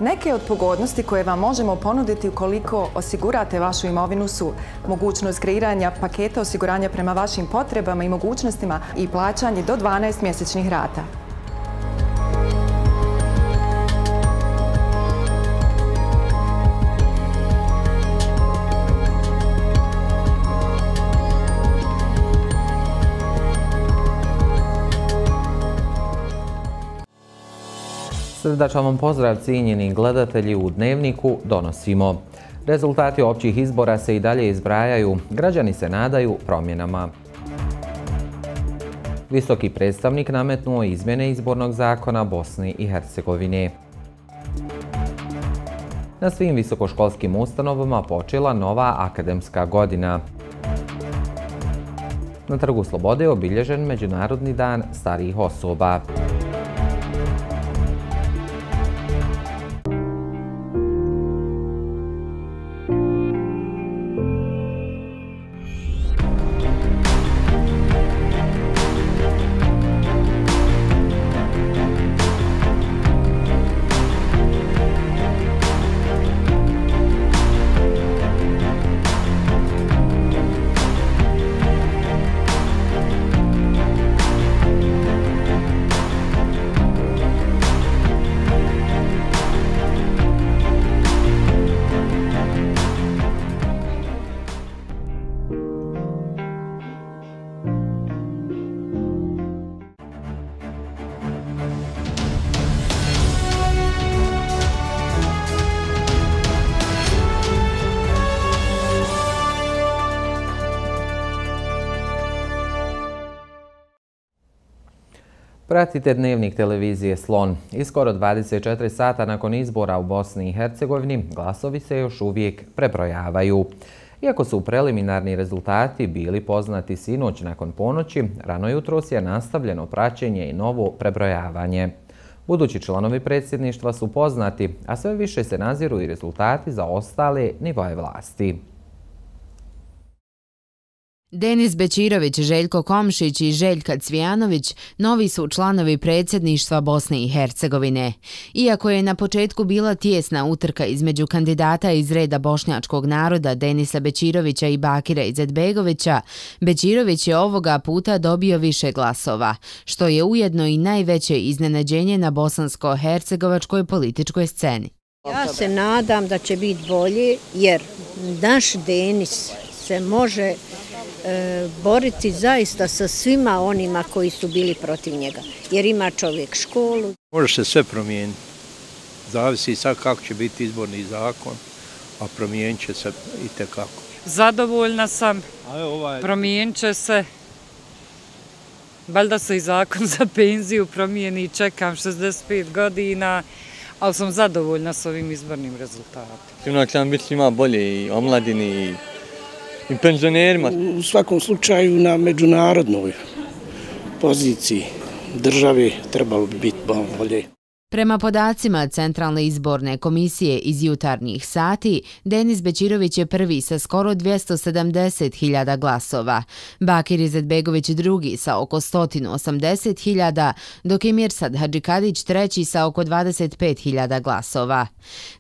Neke od pogodnosti koje vam možemo ponuditi ukoliko osigurate vašu imovinu su mogućnost kreiranja paketa osiguranja prema vašim potrebama i mogućnostima i plaćanje do 12 mjesečnih rata. Srdačan vam pozdrav, cijenjeni gledatelji, u Dnevniku donosimo. Rezultati općih izbora se i dalje izbrajaju, građani se nadaju promjenama. Visoki predstavnik nametnuo izmjene izbornog zakona Bosni i Hercegovine. Na svim visokoškolskim ustanovama počela nova akademska godina. Na Trgu Slobode je obilježen Međunarodni dan starijih osoba. Pratite Dnevnik televizije Slon. I skoro 24 sata nakon izbora u Bosni i Hercegovini glasovi se još uvijek prebrojavaju. Iako su preliminarni rezultati bili poznati sinoć nakon ponoći, rano jutros je nastavljeno praćenje i novo prebrojavanje. Budući članovi predsjedništva su poznati, a sve više se naziru i rezultati za ostale nivoe vlasti. Denis Bećirović, Željko Komšić i Željka Cvijanović novi su članovi predsjedništva Bosne i Hercegovine. Iako je na početku bila tijesna utrka između kandidata iz reda bošnjačkog naroda Denisa Bećirovića i Bakira Izetbegovića, Bećirović je ovoga puta dobio više glasova, što je ujedno i najveće iznenađenje na bosansko-hercegovačkoj političkoj sceni. Ja se nadam da će biti bolje jer naš Denis se može boriti zaista sa svima onima koji su bili protiv njega. Jer ima čovjek školu. Može se sve promijeniti. Zavisi sad kako će biti izborni zakon, a promijenit će se itekako. Zadovoljna sam, promijenit će se. Valjda se i zakon za penziju promijeni, čekam 65 godina, ali sam zadovoljna s ovim izbornim rezultatom. Sigurno će nam biti svima bolje i omladini i penzionerima. U svakom slučaju na međunarodnoj poziciji države trebalo bi biti bolje. Prema podacima Centralne izborne komisije iz jutarnjih sati, Denis Bećirović je prvi sa skoro 270.000 glasova, Bakir Izetbegović drugi sa oko 180.000, dok je Mirsad Hadžikadić treći sa oko 25.000 glasova.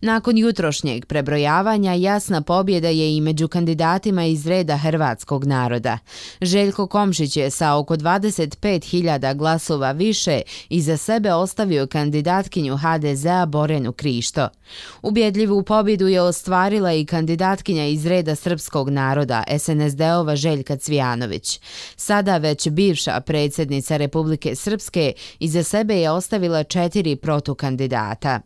Nakon jutrošnjeg prebrojavanja jasna pobjeda je i među kandidatima iz reda hrvatskog naroda. Željko Komšić je sa oko 25.000 glasova više iza sebe ostavio kandidatkinju HDZ-a Borjanu Krišto. Ubjedljivu pobjedu je ostvarila i kandidatkinja iz reda srpskog naroda SNSD-ova Željka Cvijanović. Sada već bivša predsjednica Republike Srpske iza sebe je ostavila 4 protukandidata.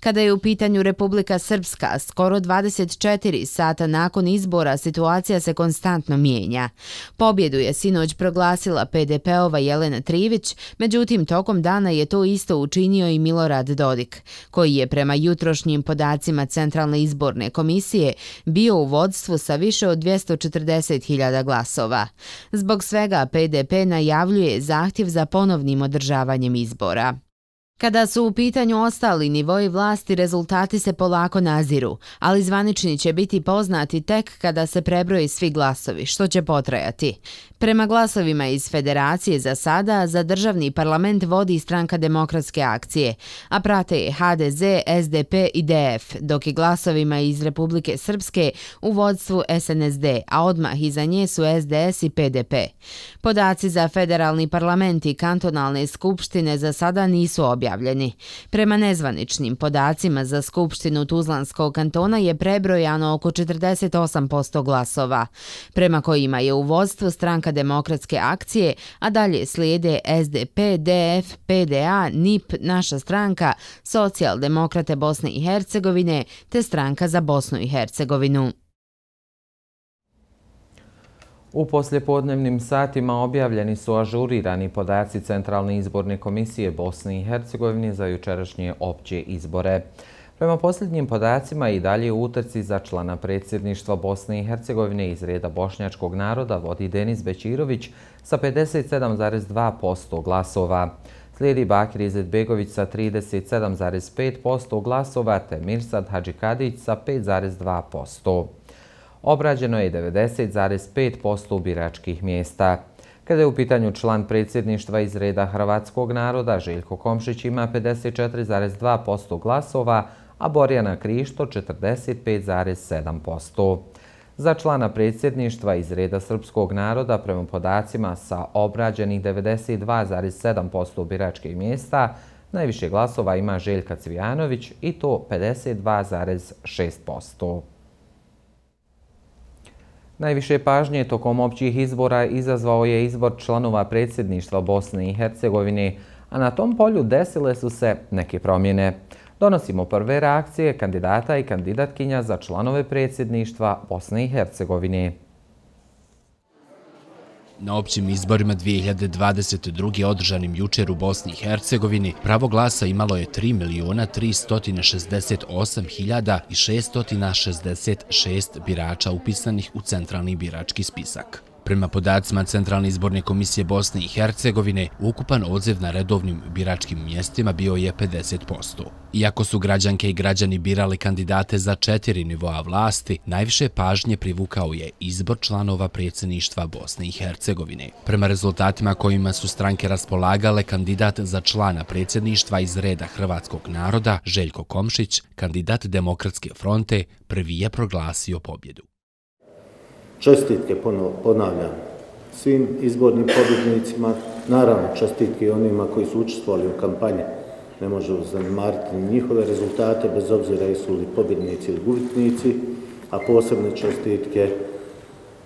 Kada je u pitanju Republika Srpska, skoro 24 sata nakon izbora situacija se konstantno mijenja. Pobjedu je sinoć proglasila PDP-ova Jelena Trivić, međutim tokom dana je to isto učinio i Milorad Dodik, koji je prema jutrošnjim podacima Centralne izborne komisije bio u vodstvu sa više od 240.000 glasova. Zbog svega PDP najavljuje zahtjev za ponovnim održavanjem izbora. Kada su u pitanju ostali nivoji vlasti, rezultati se polako naziru, ali zvanični će biti poznati tek kada se prebroji svi glasovi, što će potrajati. Prema glasovima iz Federacije za sada, za državni parlament vodi Stranka demokratske akcije, a prate je HDZ, SDP i DF, dok je glasovima iz Republike Srpske u vodstvu SNSD, a odmah iza nje su SDS i PDP. Podaci za federalni parlament i kantonalne skupštine za sada nisu objavljeni. Prema nezvaničnim podacima za Skupštinu Tuzlanskog kantona je prebrojano oko 48% glasova, prema kojima je u vodstvu Stranka demokratske akcije, a dalje slijede SDP, DF, PDA, NIP, Naša stranka, Socijaldemokrate Bosne i Hercegovine te Stranka za Bosnu i Hercegovinu. U poslijepodnevnim satima objavljeni su ažurirani podaci Centralne izborne komisije Bosne i Hercegovine za jučerašnje opće izbore. Prema posljednjim podacima i dalje u utrci za člana predsjedništva Bosne i Hercegovine iz reda bošnjačkog naroda vodi Denis Bećirović sa 57,2% glasova. Slijedi Bakir Izetbegović sa 37,5% glasova te Mirsad Hadžikadić sa 5,2%. Obrađeno je 90,5% biračkih mjesta. Kada je u pitanju član predsjedništva iz reda hrvatskog naroda, Željko Komšić ima 54,2% glasova, a Borjana Krišto 45,7%. Za člana predsjedništva iz reda srpskog naroda, prema podacima sa obrađenih 92,7% biračkih mjesta, najviše glasova ima Željka Cvijanović i to 52,6%. Najviše pažnje tokom općih izbora izazvao je izbor članova predsjedništva Bosne i Hercegovine, a na tom polju desile su se neke promjene. Donosimo prve reakcije kandidata i kandidatkinja za članove predsjedništva Bosne i Hercegovine. Na općim izborima 2022. održanim jučer u Bosni i Hercegovini pravo glasa imalo je 3.368.666 birača upisanih u centralni birački spisak. Prema podacima Centralne izborne komisije Bosne i Hercegovine, ukupan odziv na redovnim biračkim mjestima bio je 50%. Iako su građanke i građani birali kandidate za 4 nivoa vlasti, najviše pažnje privukao je izbor članova predsjedništva Bosne i Hercegovine. Prema rezultatima kojima su stranke raspolagale, kandidat za člana predsjedništva iz reda hrvatskog naroda, Željko Komšić, kandidat Demokratske fronte, prvi je proglasio pobjedu. Čestitke, ponavljam, svim izbornim pobjednicima, naravno čestitke i onima koji su učestvovali u kampanji. Ne možemo zanemariti njihove rezultate, bez obzira jesu li pobjednici ili gubitnici, a posebne čestitke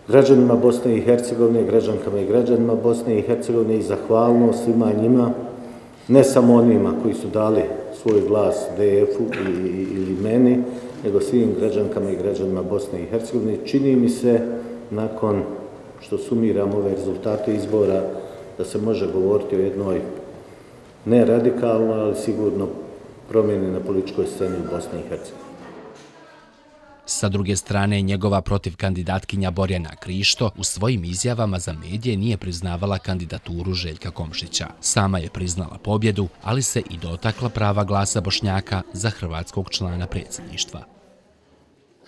građanima Bosne i Hercegovine, građankama i građanima Bosne i Hercegovine i zahvalnost svima njima, ne samo onima koji su dali svoj glas DF-u ili meni, nego svim građankama i građanima Bosne i Hercegovine. Čini mi se, nakon što sumiramo ove rezultate izbora, da se može govoriti o jednoj ne radikalnoj, ali sigurno promjeni na političkoj sceni u Bosni i Hercegovini. Sa druge strane, njegova protivkandidatkinja Borjana Krišto u svojim izjavama za medije nije priznavala kandidaturu Željka Komšića. Sama je priznala pobjedu, ali se i dotakla prava glasa Bošnjaka za hrvatskog člana predsjedništva.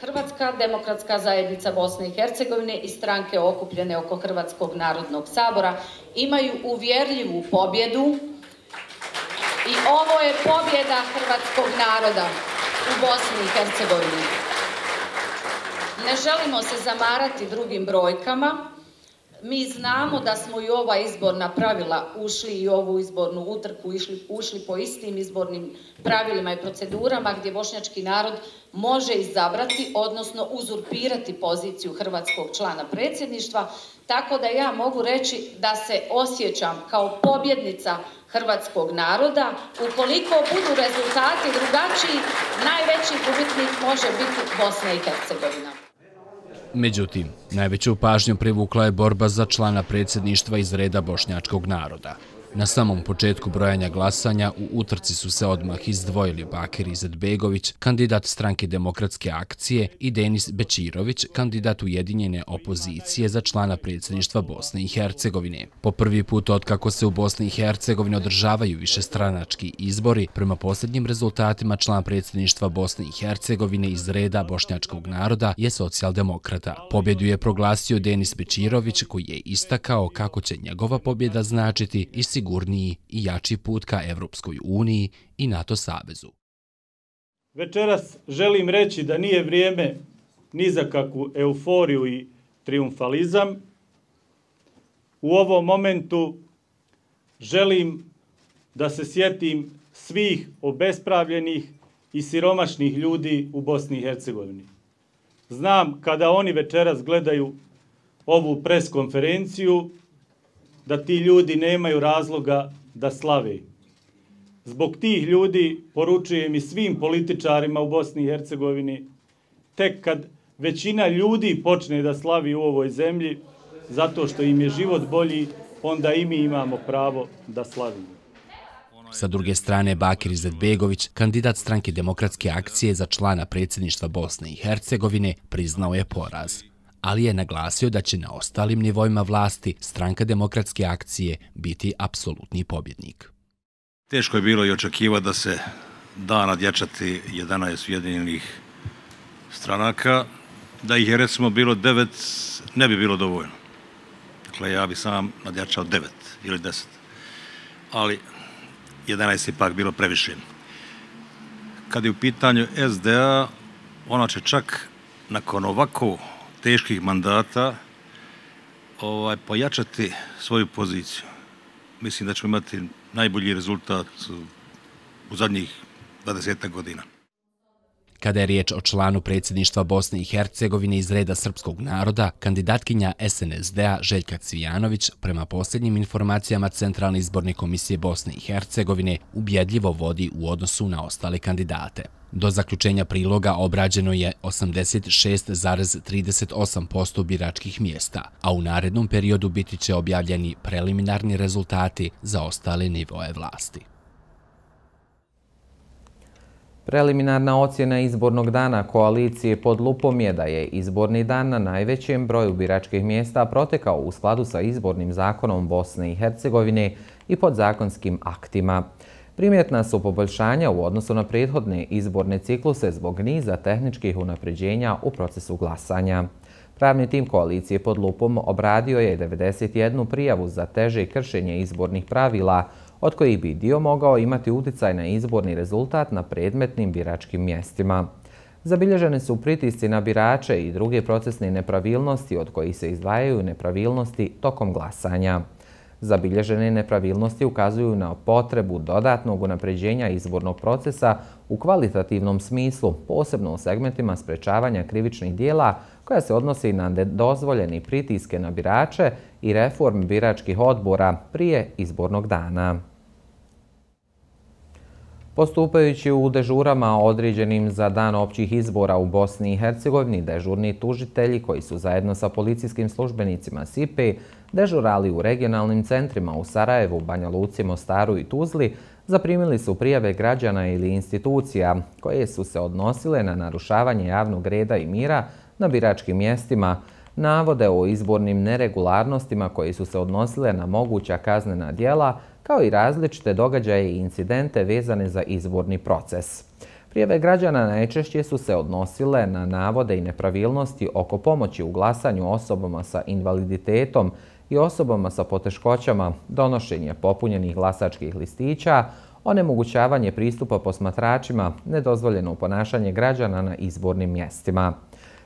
Hrvatska demokratska zajednica Bosne i Hercegovine i stranke okupljene oko Hrvatskog narodnog sabora imaju uvjerljivu pobjedu i ovo je pobjeda hrvatskog naroda u Bosni i Hercegovini. Ne želimo se zamarati drugim brojkama. Mi znamo da smo i ova izborna pravila ušli i ovu izbornu utrku ušli po istim izbornim pravilima i procedurama gdje bošnjački narod može izabrati, odnosno uzurpirati poziciju hrvatskog člana predsjedništva, tako da ja mogu reći da se osjećam kao pobjednica hrvatskog naroda. Ukoliko budu rezultati drugačiji, najveći gubitnik može biti Bosna i Hercegovina. Međutim, najveću pažnju privukla je borba za člana predsjedništva iz reda bošnjačkog naroda. Na samom početku brojanja glasanja u utrci su se odmah izdvojili Bakir Izetbegović, kandidat Stranke demokratske akcije, i Denis Bećirović, kandidat ujedinjene opozicije za člana predsjedništva Bosne i Hercegovine. Po prvi put otkako se u Bosni i Hercegovini održavaju višestranački izbori, prema posljednjim rezultatima član predsjedništva Bosne i Hercegovine iz reda bošnjačkog naroda je socijaldemokrata. Pobjedu je proglasio Denis Bećirović, koji je istakao kako će njegova pobjeda značiti i sigurniji i jači put ka Evropskoj uniji i NATO savezu. Večeras želim reći da nije vrijeme ni za kakvu euforiju i triumfalizam. U ovom momentu želim da se sjetim svih obespravljenih i siromašnih ljudi u Bosni i Hercegovini. Znam kada oni večeras gledaju ovu preskonferenciju da ti ljudi nemaju razloga da slave. Zbog tih ljudi poručujem i svim političarima u Bosni i Hercegovini, tek kad većina ljudi počne da slavi u ovoj zemlji, zato što im je život bolji, onda i mi imamo pravo da slavimo. Sa druge strane, Bakir Izetbegović, kandidat Stranke demokratske akcije za člana predsjedništva Bosne i Hercegovine, priznao je poraz, ali je naglasio da će na ostalim nivoima vlasti Stranka demokratske akcije biti apsolutni pobjednik. Teško je bilo i očekivati da se da nadjačati 11 ujedinjenih stranaka. Da ih je recimo bilo 9, ne bi bilo dovoljno. Dakle, ja bi sam nadjačao 9 ili 10. Ali 11 je ipak bilo previše. Kad je u pitanju SDA, ona će čak nakon ovako teških mandata pojačati svoju poziciju. Mislim da ćemo imati najbolji rezultat u zadnjih 20 godina. Kada je riječ o članu predsjedništva Bosne i Hercegovine iz reda srpskog naroda, kandidatkinja SNSD-a Željka Cvijanović, prema posljednjim informacijama Centralne izborne komisije Bosne i Hercegovine, ubjedljivo vodi u odnosu na ostale kandidate. Do zaključenja priloga obrađeno je 86,38% biračkih mjesta, a u narednom periodu biti će objavljeni preliminarni rezultati za ostale nivoe vlasti. Preliminarna ocjena izbornog dana koalicije pod lupom je da je izborni dan na najvećem broju biračkih mjesta protekao u skladu sa izbornim zakonom Bosne i Hercegovine i podzakonskim aktima. Primjetna su poboljšanja u odnosu na prethodne izborne cikluse zbog niza tehničkih unapređenja u procesu glasanja. Pravni tim koalicije pod lupom obradio je 91 prijavu za teže kršenje izbornih pravila, od kojih bi dio mogao imati uticaj na izborni rezultat na predmetnim biračkim mjestima. Zabilježene su pritisci na birače i druge procesne nepravilnosti, od kojih se izdvajaju nepravilnosti tokom glasanja. Zabilježene nepravilnosti ukazuju na potrebu dodatnog unapređenja izbornog procesa u kvalitativnom smislu, posebno u segmentima sprečavanja krivičnih dijela koja se odnosi na nedozvoljeni pritiske na birače i reform biračkih odbora prije izbornog dana. Postupajući u dežurama određenim za dan općih izbora u Bosni i Hercegovini, dežurni tužitelji koji su zajedno sa policijskim službenicima SIPE dežurali u regionalnim centrima u Sarajevu, Banja Luci, Mostaru i Tuzli, zaprimili su prijave građana ili institucija koje su se odnosile na narušavanje javnog reda i mira na biračkim mjestima, navode o izbornim neregularnostima koje su se odnosile na moguća kaznena djela, kao i različite događaje i incidente vezane za izborni proces. Prijave građana najčešće su se odnosile na navode i nepravilnosti oko pomoći u glasanju osobama sa invaliditetom i osobama sa poteškoćama, donošenje popunjenih glasačkih listića, onemogućavanje pristupa posmatračima, nedozvoljeno ponašanje građana na izbornim mjestima.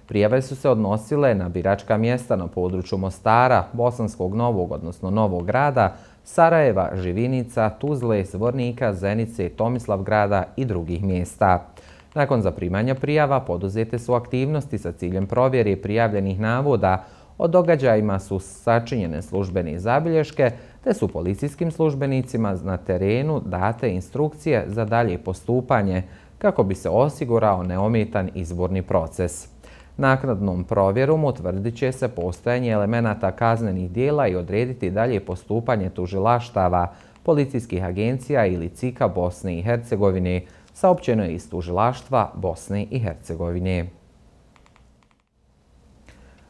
Prijave su se odnosile na biračka mjesta na području Mostara, Bosanskog Novog, odnosno Novog Grada, Sarajeva, Živinica, Tuzle, Zvornika, Zenice, Tomislavgrada i drugih mjesta. Nakon zaprimanja prijava poduzete su aktivnosti sa ciljem provjere prijavljenih navoda. O događajima su sačinjene službene zabilješke, te su policijskim službenicima na terenu date instrukcije za dalje postupanje kako bi se osigurao neometan izborni proces. Naknadnom provjerom utvrdit će se postojanje elemenata kaznenih dijela i odrediti dalje postupanje tužilaštava policijskih agencija ili CIK-a Bosne i Hercegovine, saopćeno je iz tužilaštva Bosne i Hercegovine.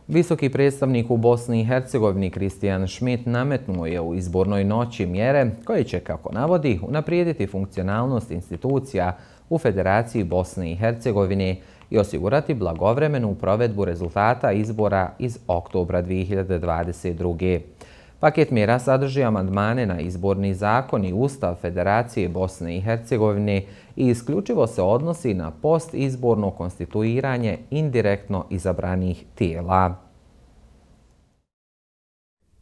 Visoki predstavnik u Bosni i Hercegovini Kristijan Schmidt nametnuo je u izbornoj noći mjere koje će, kako navodi, unaprijediti funkcionalnost institucija u Federaciji Bosne i Hercegovine i osigurati blagovremenu provedbu rezultata izbora iz oktobra 2022. Paket mjera sadrži amandmane na izborni zakon i Ustav Federacije Bosne i Hercegovine i isključivo se odnosi na postizborno konstituiranje indirektno izabranih tijela.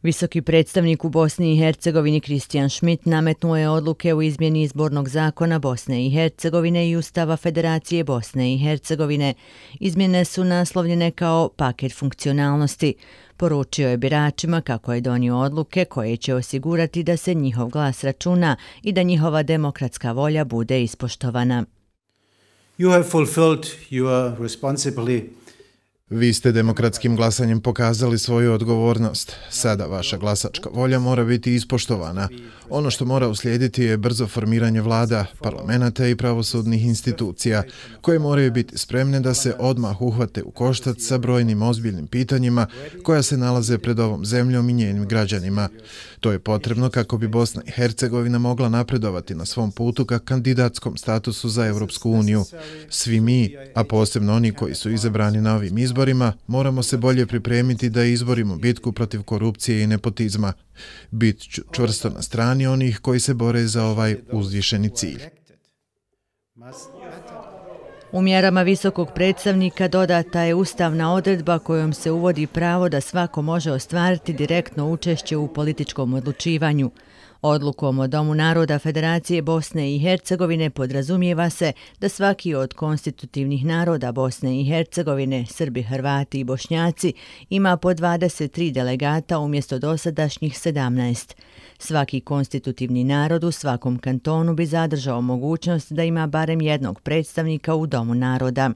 Visoki predstavnik u Bosni i Hercegovini Kristijan Schmidt nametnuo je odluke u izmjeni izbornog zakona Bosne i Hercegovine i Ustava Federacije Bosne i Hercegovine. Izmjene su naslovljene kao paket funkcionalnosti. Poručio je biračima kako je donio odluke koje će osigurati da se njihov glas računa i da njihova demokratska volja bude ispoštovana. You have fulfilled your responsibility. Vi ste demokratskim glasanjem pokazali svoju odgovornost. Sada vaša glasačka volja mora biti ispoštovana. Ono što mora uslijediti je brzo formiranje vlada, parlamenta i pravosudnih institucija, koje moraju biti spremne da se odmah uhvate u koštac sa brojnim ozbiljnim pitanjima koja se nalaze pred ovom zemljom i njenim građanima. To je potrebno kako bi Bosna i Hercegovina mogla napredovati na svom putu ka kandidatskom statusu za Evropsku uniju. Svi mi, a posebno oni koji su izabrani na ovim izborima, moramo se bolje pripremiti da izborimo bitku protiv korupcije i nepotizma. Bit ću čvrsto na strani onih koji se bore za ovaj uzvišeni cilj. U mjerama visokog predstavnika dodata je ustavna odredba kojom se uvodi pravo da svako može ostvariti direktno učešće u političkom odlučivanju. Odlukom o Domu naroda Federacije Bosne i Hercegovine podrazumijeva se da svaki od konstitutivnih naroda Bosne i Hercegovine, Srbi, Hrvati i Bošnjaci, ima po 23 delegata umjesto dosadašnjih 17. Svaki konstitutivni narod u svakom kantonu bi zadržao mogućnost da ima barem jednog predstavnika u Domu naroda.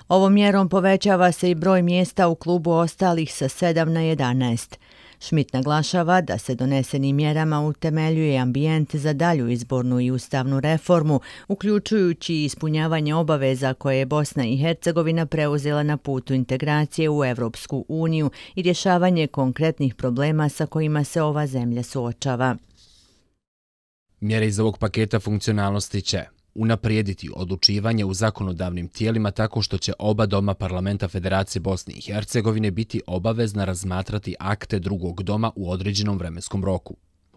Ovom mjerom povećava se i broj mjesta u klubu ostalih sa 7 na 11. Schmidt naglašava da se donesenim mjerama utemeljuje ambijent za dalju izbornu i ustavnu reformu, uključujući ispunjavanje obaveza koje je Bosna i Hercegovina preuzela na putu integracije u Evropsku uniju i rješavanje konkretnih problema sa kojima se ova zemlja suočava. Mjere iz ovog paketa funkcionalnosti će unaprijediti odlučivanje u zakonodavnim tijelima tako što će oba doma parlamenta Federacije Bosne i Hercegovine biti obavezna razmatrati akte drugog doma u određenom vremenskom roku.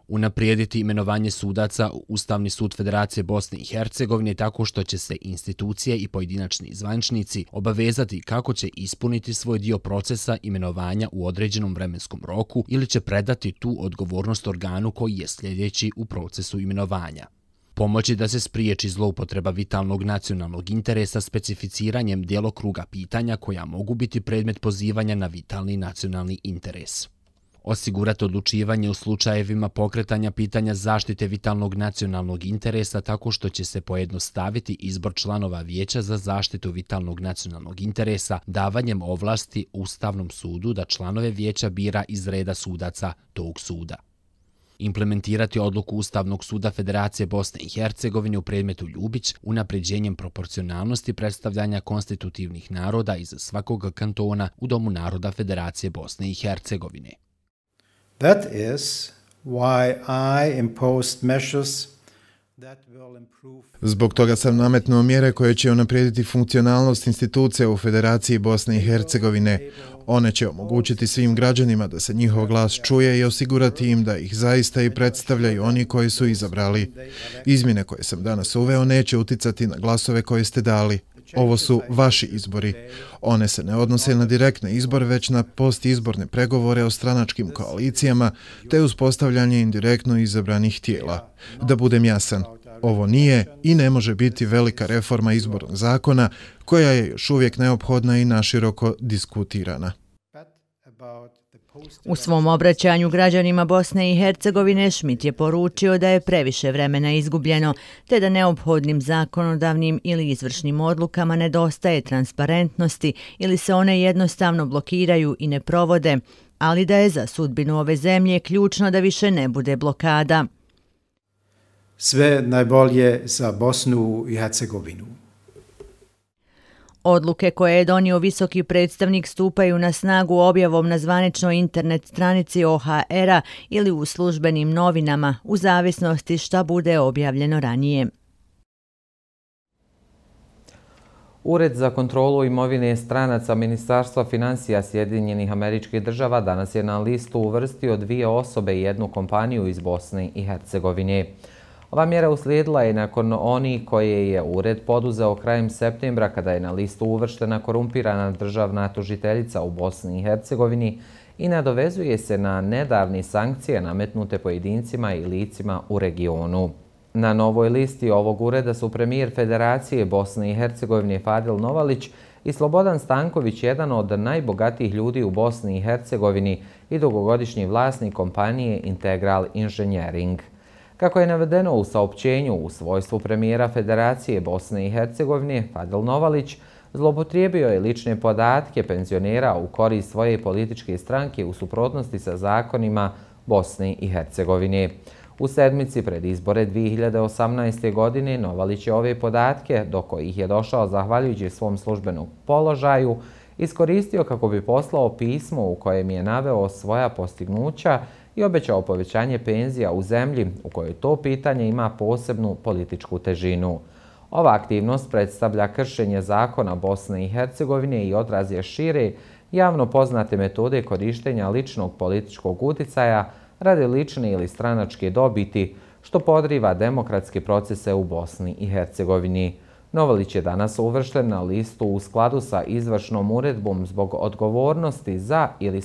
Unaprijediti imenovanje sudaca u Ustavni sud Federacije Bosne i Hercegovine tako što će se institucije i pojedinačni zvaničnici obavezati kako će ispuniti svoj dio procesa imenovanja u određenom vremenskom roku ili će predati tu odgovornost organu koji je sljedeći u procesu imenovanja. Pomoći da se spriječi zloupotreba vitalnog nacionalnog interesa specificiranjem djelokruga pitanja koja mogu biti predmet pozivanja na vitalni nacionalni interes. Osigurati odlučivanje u slučajevima pokretanja pitanja zaštite vitalnog nacionalnog interesa tako što će se pojednostaviti izbor članova Vijeća za zaštitu vitalnog nacionalnog interesa davanjem ovlasti Ustavnom sudu da članove Vijeća bira iz reda sudaca tog suda. Implementirati odluku Ustavnog suda Federacije Bosne i Hercegovine u predmetu Ljubić unapređenjem proporcionalnosti predstavljanja konstitutivnih naroda iz svakog kantona u Domu naroda Federacije Bosne i Hercegovine. That is why I imposed measures that will improve. Zbog toga sam nametnuo mjere koje će unaprijediti funkcionalnost institucija u Federaciji Bosne i Hercegovine. One će omogućiti svim građanima da se njihov glas čuje i osigurati im da ih zaista i predstavljaju oni koji su izabrali. Izmjene koje sam danas uveo neće uticati na glasove koje ste dali. Ovo su vaši izbori. One se ne odnose na direktne izbore, već na postizborne pregovore o stranačkim koalicijama te uspostavljanje indirektno izabranih tijela. Da budem jasan, ovo nije i ne može biti velika reforma izbornog zakona koja je još uvijek neophodna i naširoko diskutirana. U svom obraćanju građanima Bosne i Hercegovine Schmidt je poručio da je previše vremena izgubljeno, te da neophodnim zakonodavnim ili izvršnim odlukama nedostaje transparentnosti ili se one jednostavno blokiraju i ne provode, ali da je za sudbinu ove zemlje ključno da više ne bude blokada. sve najbolje za Bosnu i Hercegovinu. Odluke koje je donio visoki predstavnik stupaju na snagu objavom na zvaničnoj internet stranici OHR-a ili u službenim novinama, u zavisnosti šta bude objavljeno ranije. Ured za kontrolu imovine stranaca Ministarstva financija Sjedinjenih Američkih Država danas je na listu uvrstio 2 osobe i 1 kompaniju iz Bosne i Hercegovine. Ova mjera uslijedila je nakon onih koje je ured poduzeo krajem septembra kada je na listu uvrštena korumpirana državna tužiteljica u Bosni i Hercegovini i nadovezuje se na nedavne sankcije nametnute pojedincima i licima u regionu. Na novoj listi ovog ureda su premijer Federacije Bosne i Hercegovine Fadil Novalić i Slobodan Stanković, jedan od najbogatijih ljudi u Bosni i Hercegovini i dugogodišnji vlasnik kompanije Integral Engineering. Kako je navedeno u saopćenju u svojstvu premijera Federacije Bosne i Hercegovine, Fadil Novalić zloupotrijebio je lične podatke penzionera u korist svoje političke stranke u suprotnosti sa zakonima Bosne i Hercegovine. U sedmici pred izbore 2018. godine Novalić je ove podatke, do kojih je došao zahvaljujući svom službenom položaju, iskoristio kako bi poslao pismo u kojem je naveo svoja postignuća i obećao povećanje penzija u zemlji u kojoj to pitanje ima posebnu političku težinu. Ova aktivnost predstavlja kršenje zakona Bosne i Hercegovine i odraz je šire javno poznate metode korištenja ličnog političkog uticaja radi lične ili stranačke dobiti, što podriva demokratske procese u Bosni i Hercegovini. Novalić je danas uvršten na listu u skladu sa izvršnom uredbom zbog odgovornosti za ili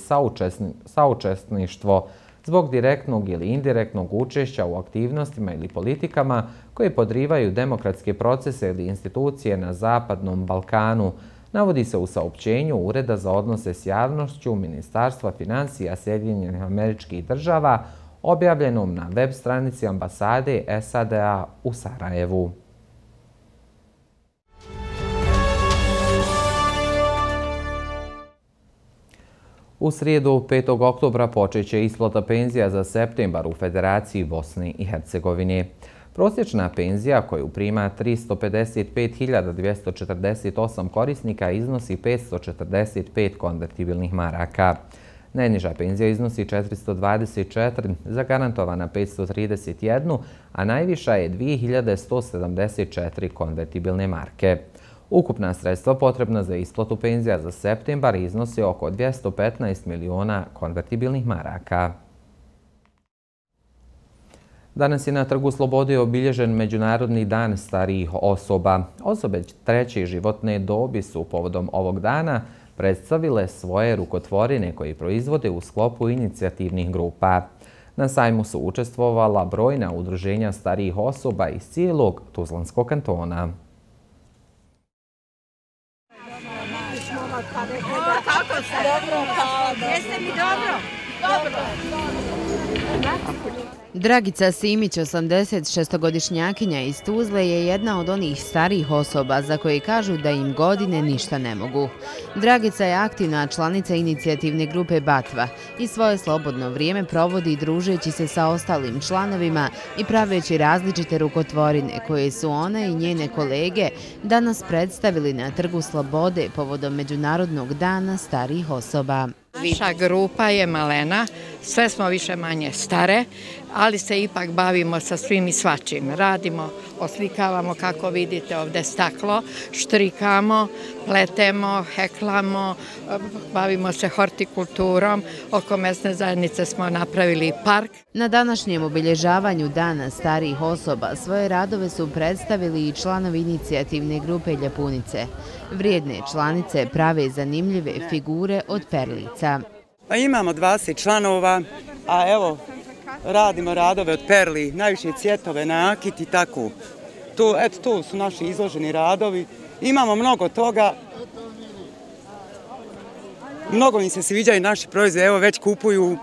saučesništvo zbog direktnog ili indirektnog učešća u aktivnostima ili politikama koje podrivaju demokratske procese ili institucije na Zapadnom Balkanu, navodi se u saopćenju Ureda za odnose s javnošću Ministarstva financija Sjedinjenih Američkih Država, objavljenom na web stranici ambasade SAD-a u Sarajevu. U srijedu 5. oktobra počeće isplata penzija za septembar u Federaciji Bosne i Hercegovine. Prosječna penzija koju prima 355.248 korisnika iznosi 545 konvertibilnih maraka. Najniža penzija iznosi 424, zagarantovana 531, a najviša je 2174 konvertibilne marke. Ukupna sredstva potrebna za isplatu penzija za septembar iznosi oko 215 miliona konvertibilnih maraka. Danas je na Trgu Slobode obilježen Međunarodni dan starijih osoba. Osobe treće životne dobi su povodom ovog dana predstavile svoje rukotvorine koje proizvode u sklopu inicijativnih grupa. Na sajmu su učestvovala brojna udruženja starijih osoba iz cijelog Tuzlanskog kantona. Kako ste? Dobro, jeste mi dobro? Dobro. Dragica Simić, 86-godišnjakinja iz Tuzle, je jedna od onih starijih osoba za koje kažu da im godine ništa ne mogu. Dragica je aktivna članica inicijativne grupe Batva i svoje slobodno vrijeme provodi družeći se sa ostalim članovima i praveći različite rukotvorine koje su ona i njene kolege danas predstavili na Trgu Slobode povodom Međunarodnog dana starijih osoba. Naša grupa je malena, sve smo više manje stare, ali se ipak bavimo sa svim i svačim. Radimo, oslikavamo, kako vidite ovdje staklo, štrikamo, pletemo, heklamo, bavimo se hortikulturom. Oko mesne zajednice smo napravili park. Na današnjem obilježavanju Dana starijih osoba svoje radove su predstavili i članovi inicijativne grupe Ljepunice. Vrijedne članice prave zanimljive figure od perlica. Imamo 20 članova, a evo radimo radove od perli, najviše cvjetove, nakit i tako. To su naši izloženi radovi. Imamo mnogo toga. Mnogo im se sviđaju naši proizvodi, evo već kupuju.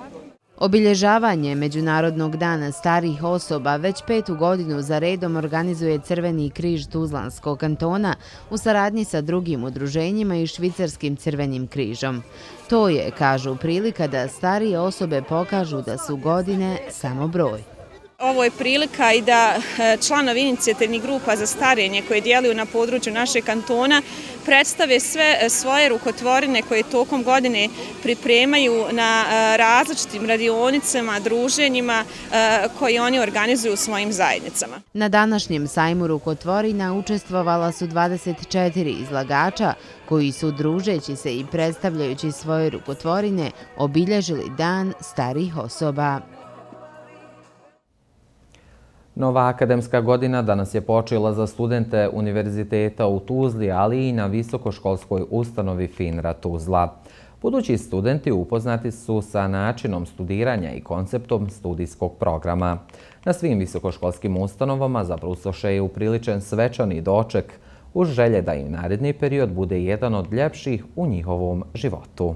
Obilježavanje Međunarodnog dana starijih osoba već 5. godinu za redom organizuje Crveni križ Tuzlanskog kantona u saradnji sa drugim udruženjima i Švicarskim crvenim križom. To je, kažu, prilika da starije osobe pokažu da su godine samo broj. Ovo je prilika i da članovi inicijativnih grupa za starenje koje djeluju na području našeg kantona predstave sve svoje rukotvorine koje tokom godine pripremaju na različitim radionicama, druženjima koje oni organizuju u svojim zajednicama. Na današnjem sajmu rukotvorina učestvovala su 24 izlagača koji su, družeći se i predstavljajući svoje rukotvorine, obilježili Dan starijih osoba. Nova akademska godina danas je počela za studente Univerziteta u Tuzli, ali i na visokoškolskoj ustanovi FINRA Tuzla. Budući studenti upoznati su sa načinom studiranja i konceptom studijskog programa. Na svim visokoškolskim ustanovama za brucoše je upriličen svečani doček uz želje da im naredni period bude jedan od ljepših u njihovom životu.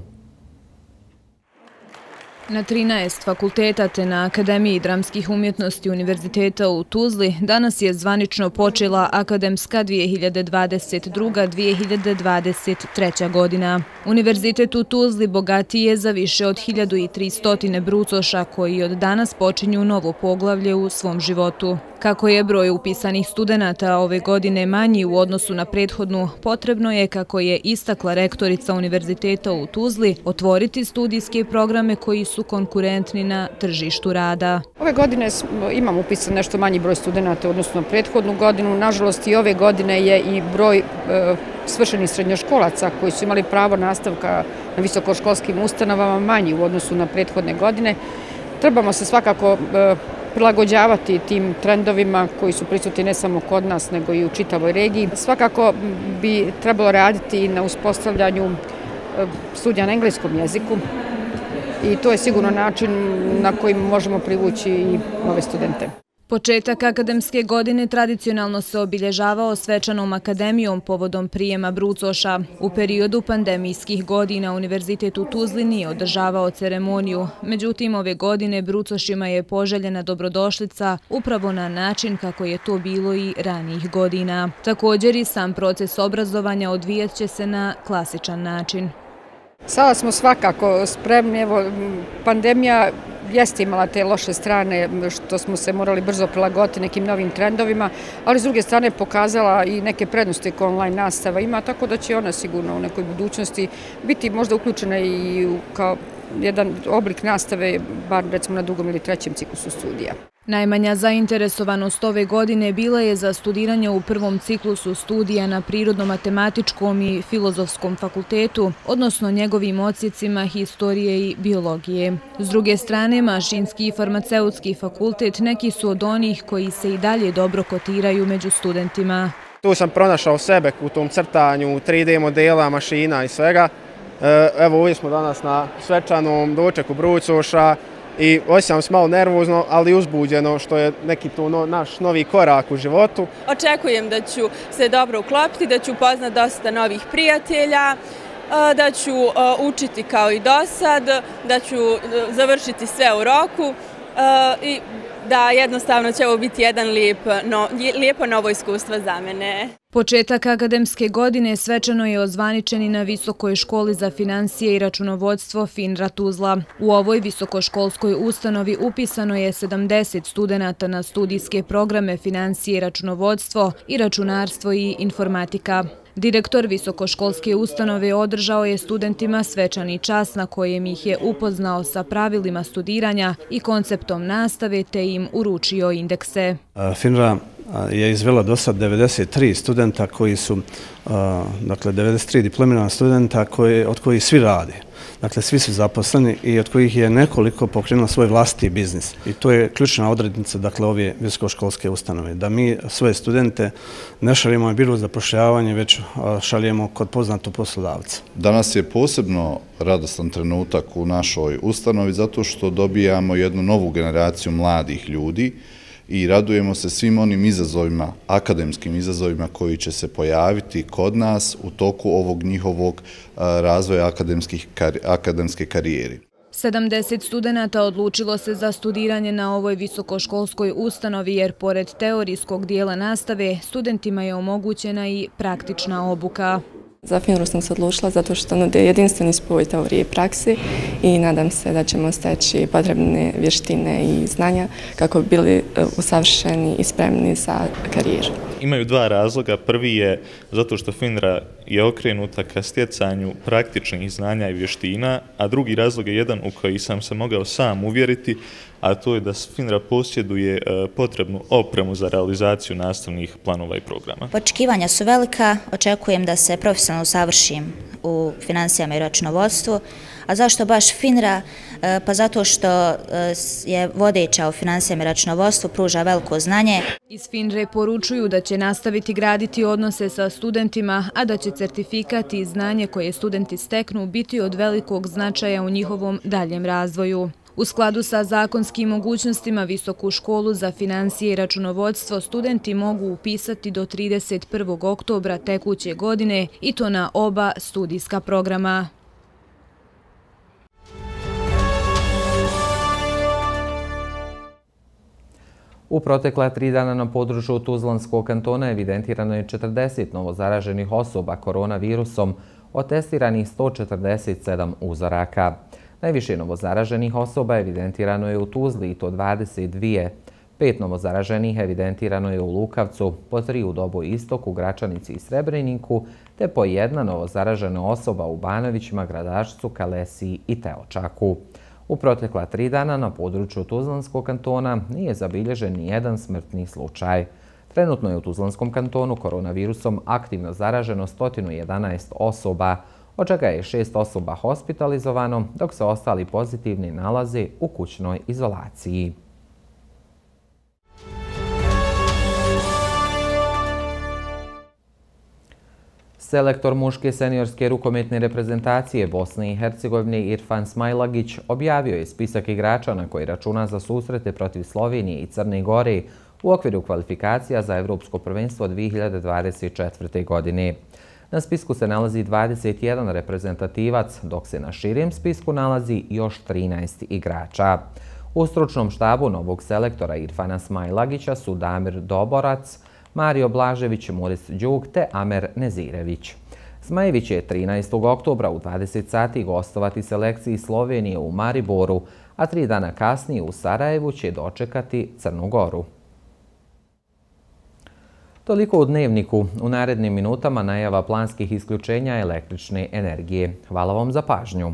Na 13 fakulteta te na Akademiji dramskih umjetnosti Univerziteta u Tuzli danas je zvanično počela akademska 2022-2023. godina. Univerzitet u Tuzli bogatiji je za više od 1300 brucoša koji od danas počinju novo poglavlje u svom životu. Kako je broj upisanih studenata ove godine manji u odnosu na prethodnu, potrebno je, kako je istakla rektorica Univerziteta u Tuzli, otvoriti studijske programe koji su konkurentni na tržištu rada. Ove godine imamo upisan nešto manji broj studenata, odnosno prethodnu godinu. Nažalost, i ove godine je i broj svršenih srednjoškolaca koji su imali pravo nastavka na visokoškolskim ustanovama manji u odnosu na prethodne godine. Trebamo se svakako prilagođavati tim trendovima koji su prisutni ne samo kod nas, nego i u čitavoj regiji. Svakako bi trebalo raditi na uspostavljanju studija na engleskom jeziku i to je sigurno način na koji možemo privući i nove studente. Početak akademske godine tradicionalno se obilježavao svečanom akademijom povodom prijema brucoša. U periodu pandemijskih godina Univerzitet u Tuzli nije održavao ceremoniju. Međutim, ove godine brucošima je poželjena dobrodošlica upravo na način kako je to bilo i ranijih godina. Također i sam proces obrazovanja odvijat će se na klasičan način. Sada smo svakako spremni. Pandemija jeste imala te loše strane što smo se morali brzo prilagoditi nekim novim trendovima, ali s druge strane pokazala i neke prednosti koje online nastava ima, tako da će ona sigurno u nekoj budućnosti biti možda uključena i kao jedan oblik nastave, bar recimo na drugom ili trećem ciklusu studija. Najmanja zainteresovanost ove godine bila je za studiranje u prvom ciklusu studija na Prirodno-matematičkom i Filozofskom fakultetu, odnosno njegovim odsjecima historije i biologije. S druge strane, Mašinski i Farmaceutski fakultet neki su od onih koji se i dalje dobro kotiraju među studentima. Tu sam pronašao sebe u tom crtanju 3D modela, mašina i svega. Evo, ovdje smo danas na svečanom dočeku brucoša i osjećam se malo nervozno, ali uzbuđeno, što je neki tu naš novi korak u životu. Očekujem da ću se dobro uklopiti, da ću upoznati dosta novih prijatelja, da ću učiti kao i do sad, da ću završiti sve u roku i da jednostavno će ovo biti jedan lijepo novo iskustvo za mene. Početak akademske godine svečano je ozvaničen i na Visokoj školi za finansije i računovodstvo FINRA Tuzla. U ovoj visokoškolskoj ustanovi upisano je 70 studenata na studijske programe finansije i računovodstvo i računarstvo i informatika. Direktor visokoškolske ustanove održao je studentima svečani čas na kojem ih je upoznao sa pravilima studiranja i konceptom nastave te im uručio indekse. FINRA je izvela do sad 93 studenta koji su, dakle 93 diplomirana studenta od kojih svi rade. Dakle, svi su zaposleni i od kojih je nekoliko pokrenulo svoj vlastiti biznis. I to je ključna odrednica, dakle, ove visokoškolske ustanove. Da mi svoje studente ne šaljemo na biro za zapošljavanje, već šaljemo kod poznatog poslodavca. Danas je posebno radostan trenutak u našoj ustanovi zato što dobijamo jednu novu generaciju mladih ljudi i radujemo se svim onim izazovima, akademskim izazovima koji će se pojaviti kod nas u toku ovog njihovog razvoja akademske karijere. 70 studenata odlučilo se za studiranje na ovoj visokoškolskoj ustanovi jer pored teorijskog dijela nastave studentima je omogućena i praktična obuka. Za Finru sam se odlučila zato što nude jedinstveni spoj teorije i praksi i nadam se da ćemo steći potrebne vještine i znanja kako bi bili usavršeni i spremni za karijeru. Imaju dva razloga. Prvi je zato što Finra je okrenuta ka stjecanju praktičnih znanja i vještina, a drugi razlog je jedan u koji sam se mogao sam uvjeriti, a to je da Finra posjeduje potrebnu opremu za realizaciju nastavnih planova i programa. Očekivanja su velika, očekujem da se profesionalno usavršim u financijama i računovodstvu. A zašto baš Finra? Pa zato što je vodeća u financijama i računovodstvu, pruža veliko znanje. Iz Finre poručuju da će nastaviti graditi odnose sa studentima, a da će certifikat i znanje koje studenti steknu biti od velikog značaja u njihovom daljem razvoju. U skladu sa zakonskim mogućnostima Visoku školu za financije i računovodstvo studenti mogu upisati do 31. oktobra tekuće godine i to na oba studijska programa. U protekla 3 dana na području Tuzlanskog kantona evidentirano je 40 novozaraženih osoba koronavirusom, od testiranih 147 uzoraka. Najviše novozaraženih osoba evidentirano je u Tuzli i to 22. 5 novozaraženih evidentirano je u Lukavcu, po 3 u Doboj Istoku, Gračanici i Srebreniku, te po 1 novozaražena osoba u Banovićima, Gradačcu, Kalesiji i Teočaku. U protekla 3 dana na području Tuzlanskog kantona nije zabilježen ni jedan smrtni slučaj. Trenutno je u Tuzlanskom kantonu koronavirusom aktivno zaraženo 111 osoba, od čega je 6 osoba hospitalizovano, dok se ostali pozitivni nalaze u kućnoj izolaciji. Selektor muške seniorske rukometne reprezentacije Bosne i Hercegovine Irfan Smajlagić objavio je spisak igrača na koji računa za susrete protiv Slovenije i Crne Gore u okviru kvalifikacija za Evropsko prvenstvo 2024. godine. Na spisku se nalazi 21 reprezentativac, dok se na širem spisku nalazi još 13 igrača. U stručnom štabu novog selektora Irfana Smajlagića su Damir Doborac, Mario Blažević, Moris Đuk te Amer Nezirević. Zmajević će 13. oktobra u 20 sati gostovati selekciji Slovenije u Mariboru, a 3 dana kasnije u Sarajevu će dočekati Crnu Goru. Toliko u Dnevniku. U narednim minutama najava planskih isključenja električne energije. Hvala vam za pažnju.